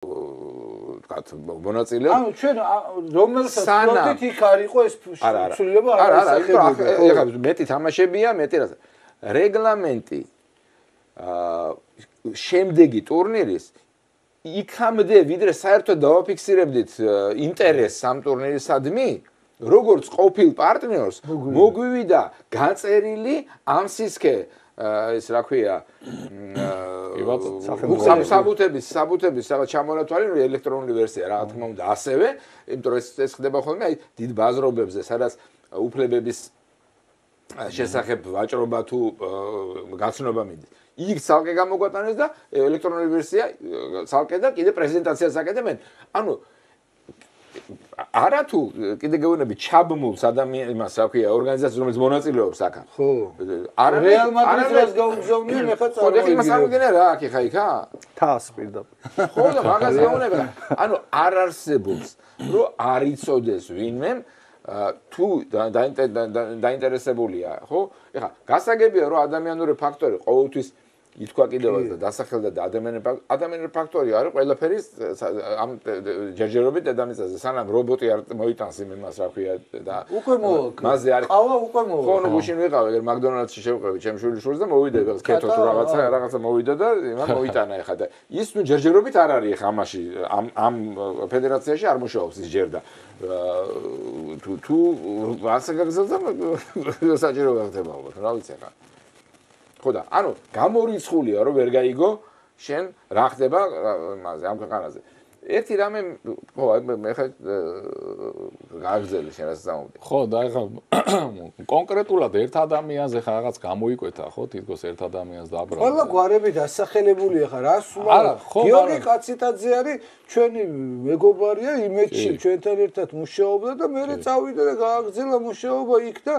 ვთქვათ, მონაწილეობ. ანუ ჩვენ რომელსაც სპორტით იქ არ იყო ეს სულება არ არის. ეხლა მეტი თამაშებია, მეტი რა. რეგლამენტი შემდეგი ტურნირის იქამდე ვიდრე საერთოდ დავაფიქსირებდით ინტერესს ამ ტურნირისადმი, როგორც ყოფილ პარტნიორს მოგვივიდა გაწერილი ამ სისქე ეს რა ქვია საბუთების რაღაც ჩამონათვალი ელექტრონული ვერსია რა თქმა უნდა ასევე იმიტომ რომ ეს ხდება ხოლმე აი დიდ ბაზრობებზე სადაც უფლებების შესახებ ვაჭრობა თუ გაცნობა მიდის იქ ცალკე გამოგვატანეს და ელექტრონული ვერსია ცალკე და კიდე პრეზენტაციას აკეთებენ ანუ არა თუ კიდე გეუბნები ჩაბმულს ადამიანს იმას რა ქვია ორგანიზაციას რომელიც მონაწილეობს აქ ხო რეალ მადრიდს გაუგზავნიან ეხლა ხო იმას არ მიგენა რა აქ ხა იქა თას პირდაპირ ხო და მაგას გეუბნება ანუ არ არსებობს რომ არ იცოდეს ვინმე თუ დაინტერესებულია ხო ეხლა გასაგებია რომ ადამიანური ფაქტორი ყოველთვის ითქვა კიდევაც და დასახელდა და ადამიანური ფაქტორი არის ყველაფერი ამ ჯერჯერობით დედამიწაზე სანამ რობოტი არ მოიტანს იმას რა ქვია და უკვე მოვა მასზე არის ყავა უკვე მოვა ხო ნუ გუშინ ვიყავი მაკდონალდსში შევყევი ჩემ შვილიშვილს და მოვიდა კეთო თუ რაღაცა მოვიდა და იმან მოიტანა ეხლა და ის ნუ ჯერჯერობით არ არის ეხლა ამაში ამ ფედერაციაში არ მუშაობს ის ჯერ და თუ ასე გაგზავნა საჭირო გახდება ალბათ რა ვიცი ახლა ხო და ანუ გამორიცხულია რომ ვერ გაიგო შენ რა ხდება მასე ამ ქვეყანაზე ერთი რამე ხო მე ხა გაგზელი შენ რასაც ამოვიდი ხო და ეხლა კონკრეტულად ერთ ადამიანზე ხა რაღაც გამოიკვეთა ხო თითქოს ერთ ადამიანს დააბრალდა ყველა გვარები დასახელებულია ხა რა სულა გიორგი კაციტაძე არის ჩვენი მეგობარია იმედში ჩვენთან ერთად მუშაობდა და მე წავიდა და გააგზელა მუშაობა იქ და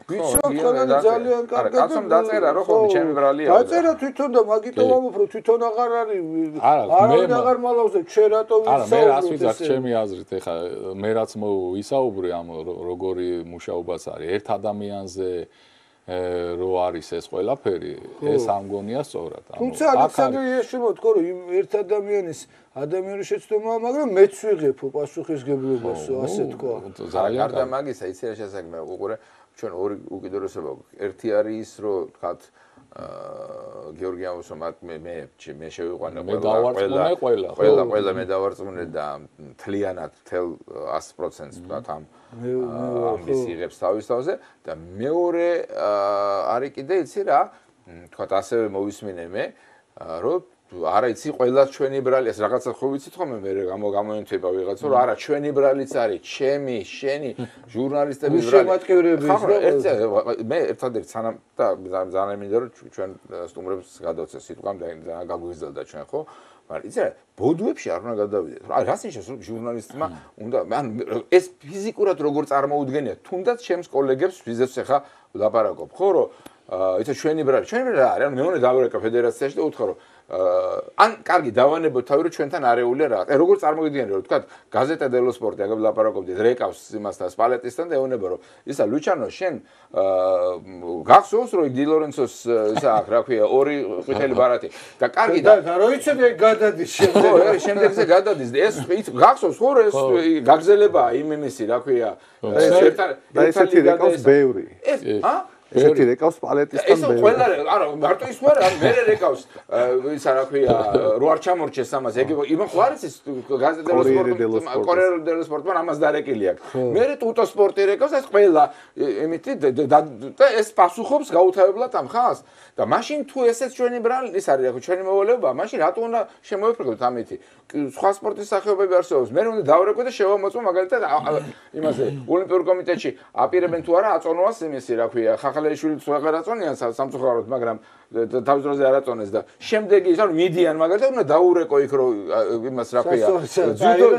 ვიცნობ ყველანი ძალიან კარგად კაცომ დაწერა რომ ხო ჩემი ბრალია დაწერა თვითონ და მაგითო ვამოფრო თვითონ აღარ არის აღარ მალავს და ჩვენ რატო ვისაუბროთ არა მე რას ვიძახ ჩემი აზრით ეხა მე რაც ვისაუბრე ამ როგორი მუშაობაც არის ერთ ადამიანზე რო არის ეს ყველაფერი ეს ამ გონია სწორად თუმცა ალექსანდრე იაშვილმა თქვა რომ ერთ ადამიანის შეცდომაა მაგრამ მეც ვიღებ პასუხისგებლობას ასე თქვა გარდა მაგისა იცი რა შესაძლებელი უყურე ჩვენ ორი უკიდურესობა ერთი არის ის რომ თქვათ გიორგი ამოსო მე შევიყვანე ყველა მე დავარწმუნე და მთლიანად 100% თქვათ ამ ამის იღებს თავის თავზე და მეორე არის კიდე იცი რა თქვათ ასევე მოვისმინე მე რომ არა იცი ყველა ჩვენი ბრალი ეს რაღაცა ხო ვიცით ხოლმე მე გამოენტება ვიღაცა რომ არა ჩვენი ბრალიც არის ჩემი შენი ჟურნალისტების ბრალი მე ერთადერთი სანამ და ძალიან მინდა რომ ჩვენ სტუმრებს გადავწეს სიტყვამ და გაგვიზელდა ჩვენ ხო მაგრამ იცი რა ბოდუებში არ უნდა გადავიდეთ რა რას ნიშნავს რომ ჟურნალისტმა უნდა ან ეს ფიზიკურად როგორ წარმოუდგენია თუნდაც ჩემს კოლეგებს ვიზებს ახლა ვლაპარაკობ ხო რომ იცი ჩვენი ბრალი არის ანუ მე უნდა დავერეკა ფედერაციაში და უთხრა რომ ან კარგი დავანებოთ თავი რომ ჩვენთან არეულია რა. როგორ წარმოგიდგენთ რომ თქვა გაზეტა დელო სპორტი აგებ ლაპარაკობდით რეკავს იმასთან სპალეტისთან და ეუბნება რომ ისა ლუჩანო შენ გახსოვს რომ დი ლორენცოს ისა აქ რა ქვია ორი ყვითელი ბარათი და კარგი და რო იცოდი გადადის შემდეგზე გადადის ეს გახსოვს ხო ეს გაგზელებაა იმისი რა ქვია ესეთი რეკავს ბევრი ესეთი რეკავს პალეტისთან ბევრი. ეს ყველა არა მარტო ის ვარ მე რეკავს ისა რა ქვია რო არ ჩამორჩეს ამას ეგ იმან ხო არის ის გაზეტა კორიერ დელო სპორტმა ამას დარეკილი აქვს. მე ტუტო სპორტი რეკავს ეს ყველა იმითი და ეს პასუხობს გაუთავებლად ამ ხალხს და მაშინ თუ ესეც ჩვენი ბრალი ის არის რა ჩვენი მოვალეობა მაშინ რატო უნდა შემოვიფრთხილოთ ამითი სხვა სპორტის სახეობები არსებობს მე უნდა დავრეკვე და შევამოწმო მაგალითად იმაზე ოლიმპიურ კომიტეტში აპირებენ თუ არა აწონვას იმისი რა ქვია ხახალეიშვილიც აღარ აწონიან სამწუხაროდ მაგრამ თავის დროზე არ აწონეს და შემდეგი ის ანუ მიდიან მაგალითად უნდა დაურეკო იქ რომ იმას რა ქვია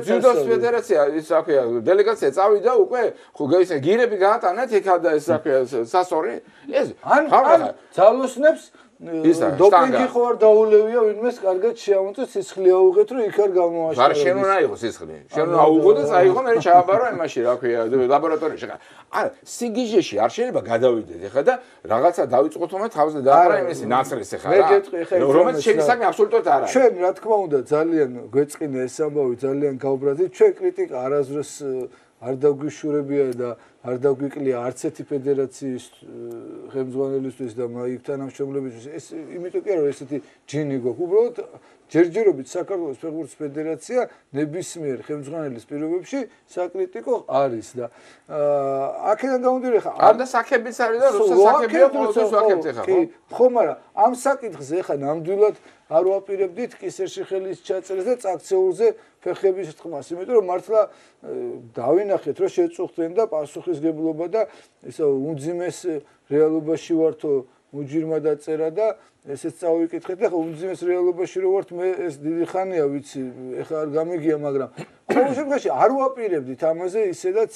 ძუდოს ფედერაცია ის რა ქვია დელეგაცია წავიდა უკვე ხო ისე გირები გაატანეთ იქა და ეს რა ქვია სასორი ეს ან ძალოსნებს დოპინგი ხო არ დაულევია ვინმეს კარგად შეამოწეს სისხლი აუღეთ რომ იქ არ გამოაშკარო. არ შენ უნდა იყო სისხლი. შენ უნდა აუღო და წაიღო მე ჩააბარო იმაში რა ქვია ლაბორატორიაში. არა სიგიჟეში არ შეიძლება გადავიდეთ ეხლა და რაღაცა დავიწყოთ თომა თავზე დაყრა იმისი ნაცრეს ეხლა რა. მე გეტყვი ეხლა რომელიც შენი საქმე აბსოლუტურად არ არის. ჩვენ რა თქმა უნდა ძალიან გვეწყინა ეს ამბავი ძალიან გავბრაზეთ. ჩვენ კრიტიკა არასდროს არ დაგვიშურებია და არ დაგვიკლია არც ერთი ფედერაციის ხელმძღვანელისთვის და იქ თანამშრომლებისთვის. ეს იმიტომ კი არა რომ ესეთი ჯინი გვაქვს. უბრალოდ ჯერჯერობით საქართველოს ფეხბურთის ფედერაცია ნებისმიერ ხელმძღვანელის პირობებში საკრიტიკო არის და აქედან გამომდინარე ხა არ და საკებიც არის და როცა საკებია ყოველთვის ვაკებთ ეხა ხო? ხო, მაგრამ ამ საკითხზე ეხა ნამდვილად არ ვაპირებდით კისერში ხელის ჩაწერას და წაქცეულზე ფეხების თქმას, იმიტომ რომ მართლა დავინახეთ რომ შეწუხდნენ და პასუხისგებლობა და ესა უმძიმეს რეალობაში ვართო უჯირმა დაწერა და ესეც წავიკითხეთ და ხა უმძიმეს რეალობაში რო ვართ მე ეს დიდი ხანია ვიცი ეხა არ გამიგია მაგრამ ყოველ შემთხვევაში არ ვაპირებდით ამაზე ისედაც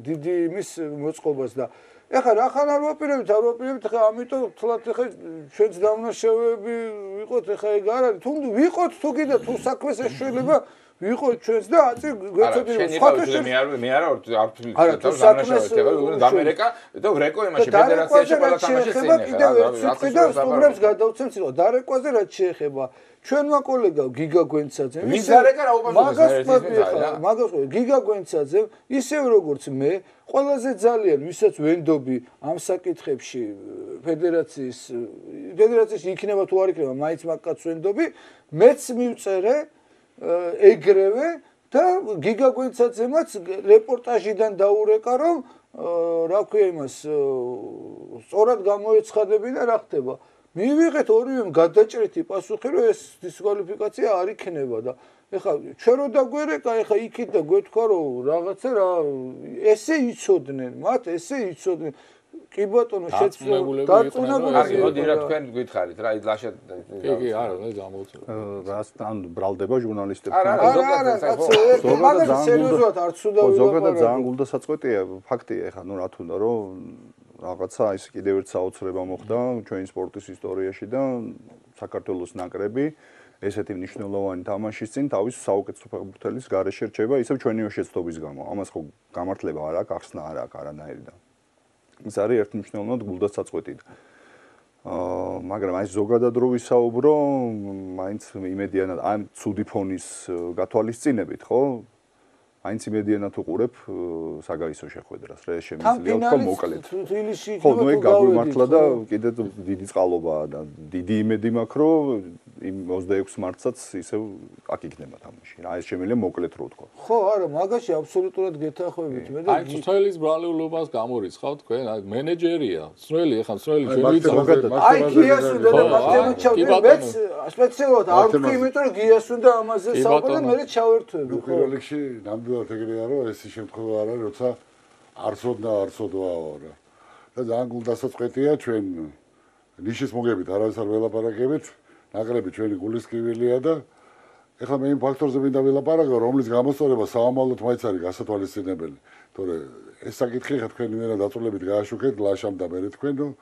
დიდი იმის მოწყობას და ეხლა რახან არ ვაპირებთ ხა ამიტომ თლათ ეხა ჩვენც დამნაშავეები ვიყოთ ეხა ეგ არ არის თუ ვიყოთ თუ კიდე თუ საქმეს ეშველება ვიყოთ ჩვენც და აწი გვეცოდინება სხვათა მე არა არ თვლით დამნაშავეები ამერიკა და ვრეკო იმაში ფედერაციაში ყველა თამაში წინ ეხლა და სტუმრებს გადავცემთ სიტყვა დარეკვაზე რაც შეეხება ჩვენმა კოლეგა გიგა გვენცაძემ მაგას გიგა გვენცაძემ ისევ როგორც მე ყველაზე ძალიან ვისაც ვენდობი ამ საკითხებში ფედერაციაში იქნება თუ არ იქნება მაინც მაგკაც ვენდობი მეც მივწერე ეგრევე და გიგა გვენცაძემაც რეპორტაჟიდან დაურეკა რომ რა ქვია იმას სწორად გამოეცხადებინა რა ხდება მივიღეთ ორივემ გადაჭრეთი პასუხი რომ ეს დისკვალიფიკაცია არ იქნება და ეხლა ჩვენ რო დაგვერეკა ეხლა იქით და გვეთქვა რომ რაღაცა რა ესე იცოდნენ მათ ესე იცოდნენ კი ბატონო დარწმუნებული მოდი რა თქვენ გითხარით რა ლაშა კი არა მე გამოვწევ რასთან ბრალდება ჟურნალისტებს არა მაგას სერიოზულად არ ცუდა ზოგადად ძალიან გულდასაწყვეტია ფაქტია ეხლა ნუ რა თქმა უნდა რომ რაღაცა ის კიდევ ერთ საოცრება მოხდა ჩვენი სპორტის ისტორიაში და საქართველოს ნაკრები ესეთი მნიშვნელოვანი თამაშის წინ თავის საუკეთესო ფეხბურთელის გარეშე რჩება ისევ ჩვენი შეცდომის გამო ამას ხო გამართლება არ აქვს ახსნა არ აქვს არანაირი და ის არის ერთმნიშვნელოვნად გულდასაწყვეტი მაგრამ აი ზოგადად რო ვისაუბრო მაინც იმედიანად ამ ცუდი ფონის გათვალისწინებით ხო აინც იმედიანად უყურებ საგაისო შეხვედრას რა შემიძლია თქო მოკლედ ხო ნუ ეგ გაგვიმართლა და კიდე დიდი წყალობაა და დიდი იმედი მაქვს რომ იმ 26 მარტსაც ისევ აქ იქნება თამაში რა ეს შემიძლია მოკლედ რო ვთქვა ხო არა მაგაში აბსოლუტურად გეთანხმებით მე და აი ცნელის ბრალეულობას გამორიცხავ თქვენ აი მენეჯერია ცნელი ახლა ცნელი ჩვენ ზოგადად აი გიასუნდა და მათემატიკაში მეც სპეციალურად არ ვთქვი იმიტომ რომ გიასუნდა ამაზე საუბარი და მე ჩავერთვები ხო პირველ რიგში ნამდვილად ეგრეა რომ ეს შემთხვევა არა როცა არცოდვაო რა და ძალიან გულდასაწყვეტია ჩვენ ნიშის მოგებით არავის არ ველაპარაკებით ნაკრები ჩვენი გულისკივილია და ეხლა მე იმ ფაქტორზე მინდა ველაპარაკო რომლის გამოსწორება საომალოდ მაინც არის გასათვალისწინებელი თორე ეს საკითხი ხა თქვენი მერე დაწოლებით გააშუქეთ ლაშამ და მე თქვენ რომ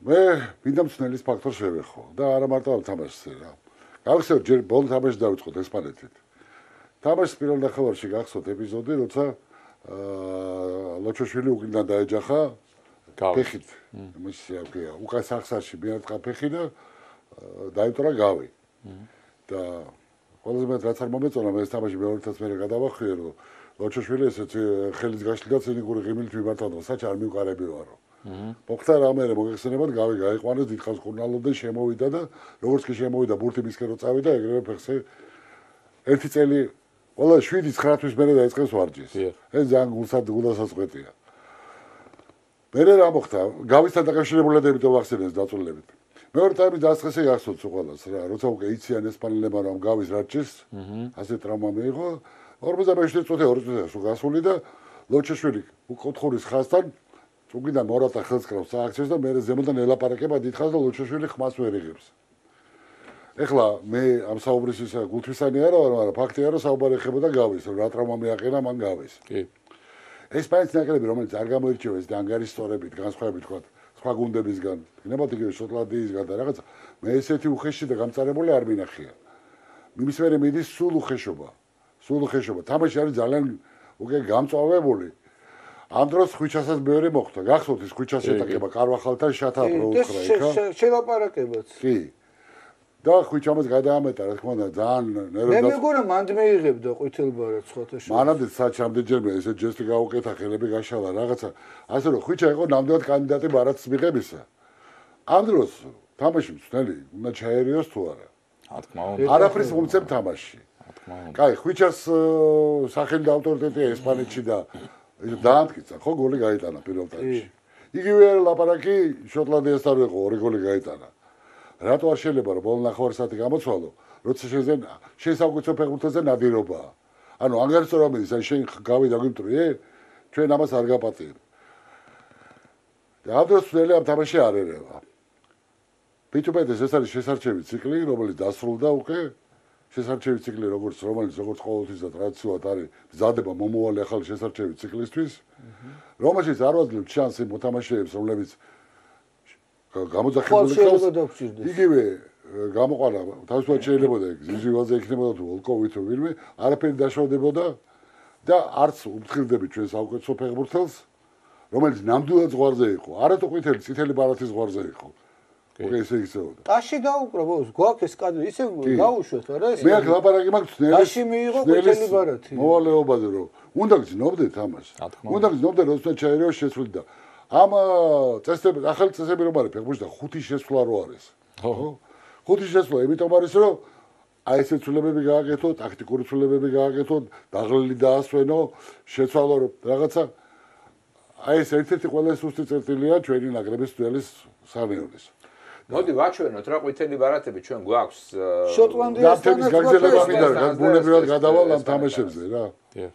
მე მინდა მცნელის ფაქტორს შევეხო და არა მარტო ამ თამაშზე რა გავხსენოთ ჯერ ბოლო თამაში დავიწყოთ ესპანეთით თამაშის პირველ ნახევარში გახსოვთ ეპიზოდი როცა ლოჩოშვილი უკიდან დაეჯახა ფეხით იმისი აქია უკან სახსარში მიარტყა ფეხი და დაიწვრა გავი და ყველაზე მეტ რაც არ მომეწონა მე ეს თამაში მეორედაც მე გადავახვიე რომ ლოჩოშვილი ესეც ხელის გაშლიდა ცინიკური ღიმილით მიმართა და საჩ არ მივყარები ვარო მოხდა რამე მოგეხსენებათ გავი გაიყვანეს დიდხანს კურნალობდნენ შემოვიდა და როგორც კი შემოვიდა ბურთი მისკენ რო წავიდა ეგრევე ფეხზე ერთი წელი ყველა 7-9 თვის მერე დაიწყეს ვარჯიშს ეს ძალიან გულდასაწყვეტია მერე რა მოხდა გავისთან დაკავშირებული დებით ვახსენეს დაწოლებით მეორე ტაიმის დასაწყისი გახსოვთ ყველას რა როცა უკვე იციან ესპანელებმა რომ გავის რაჭის ასე ტრაუმა მიიღო 47 წუთი 2 წუთი სულ გასული და ლოჩოშვილი უკოთხურის ხაზთან უკიდან მორატა ხელს კრავს სააქციოს და მერე ზემოდან ელაპარაკება დიდხანს და ლოჩოშვილი ხმას ვერ იღებს ეხლა მე ამ საუბრის ისა გულთვისანი არა ვარ მაგრამ ფაქტია რომ საუბარი ეხებოდა გავის რა ტრაუმა მიაყენა მან გავის კი ესპანეთის ნაკრები რომელიც არ გამოირჩევა ეს და ანგარიშ სწორებით განსხვავებით თქვა სხვა გუნდებისგან, იქნებათ იგივე შოტლანდიისგან და რაღაცა. მე ესეთი უხეში და გამწარებული არ მინახია. იმის მერე მიდის სულ უხეშობა. თამაში არის ძალიან უკვე გამწვავებული. ამ დროს ხვიჩასაც მეორე მოხდა. გახსოვთ ის ხვიჩას შეტაკება კარვახალთან შათა პროუქრა იქა. შელაპარაკებაც. კი. და ხვიჩამაც გადაამეტა, რა თქმა უნდა, ძალიან ნერვებს. მე მეგონა მანდ მეიღებდა ყვითელბარად სხვათა შორის. მანამდე საჩამდეჯერმე ესე ჯესტი გაუკეთა, ხელები გაშალა, რაღაცა. ასე რომ ხვიჩა იყო ნამდვილად კანდიდატი ბარათს მიღებისა. ამ დროს თამაში მწნელი, უნდა ჩაერიოს თუ არა. რა თქმა უნდა. არაფრის მომცემ თამაში. კაი, ხვიჩას სახელი და ავტორიტეტია ესპანეთში და დაამტკიცა, ხო გოლი გაიტანა პირველ ტაიმში. იგივე ლაპარაკი შოტლანდიასთან იყო, 2 გოლი გაიტანა. რატო არ შეიძლება რომ ბოლო ნახევარსაათი გამოცვალო, როცა შენ საუკეთესო ფეხბურთელზე ნადირობაა. ანუ ანგარიშრობა მიდის, ან შენ გავიდა გვიმტრიე, ჩვენ ამას არ გაპატიებ. და ამ დროს ძველი ამ თამაში არ ერევა. პიტუპედეს ეს არის შესარჩევი ციკლი, რომელიც დასრულდა უკვე. შესარჩევი ციკლი როგორც ყოველთვის და ტრადიციულად არის მზადება მომავალი ახალი შესარჩევი ციკლისთვის, რომელშიც არ ვაძლევთ შანსი მოთამაშეებს, რომლებიც გამოძახებული ხავს. იგივე გამოყანა თავისუფლად შეიძლება და ზიზივალზე იქნებოდა თუ ვოლკოვი თუ ვინმე, არაფერი დაშავდებოდა და არც უფრთხილდებით ჩვენ საუკეთესო ფეხბურთელს, რომელიც ნამდვილად ზღვარზე იყო. არათუ წითელი ბარათის ზღვარზე იყო. უკვე ესე იქცეოდა. ტაში დაუკრა ბოლოს, გვაქვს ეს კადრი, ისე გაუშვეთ არა ეს. მე აქ ლაპარაკი მაქვს ძნელის. ტაში მიიღო ყვითელი ბარათი. მოვალეობაზე რომ უნდა გძნობდეთ ამას. უნდა გძნობდეთ როცა ჩაერიოს შეცვლით და ამ წესები, ახალი წესები რომ არის ფეხბურთში და 5 შეცვლა რო არის. ხო? 5 შეცვლა იმიტომ არის რომ აი ესე ცვლილებები გააკეთო, ტაქტიკური ცვლილებები გააკეთო, დაღლილი დაასვენო, შეცვალო რაღაცა. აი ეს ერთ-ერთი ყველაზე სუსტი წერტილია ჩვენი ნაკრების ძველის სანეულის. მოდი ვაჩვენოთ რა ყვითელი ბარათები ჩვენ გვაქვს შოტლანდიასთან გაგზელება მინდა ბუნებრივად გადავალ ამ თამაშებზე რა. კი.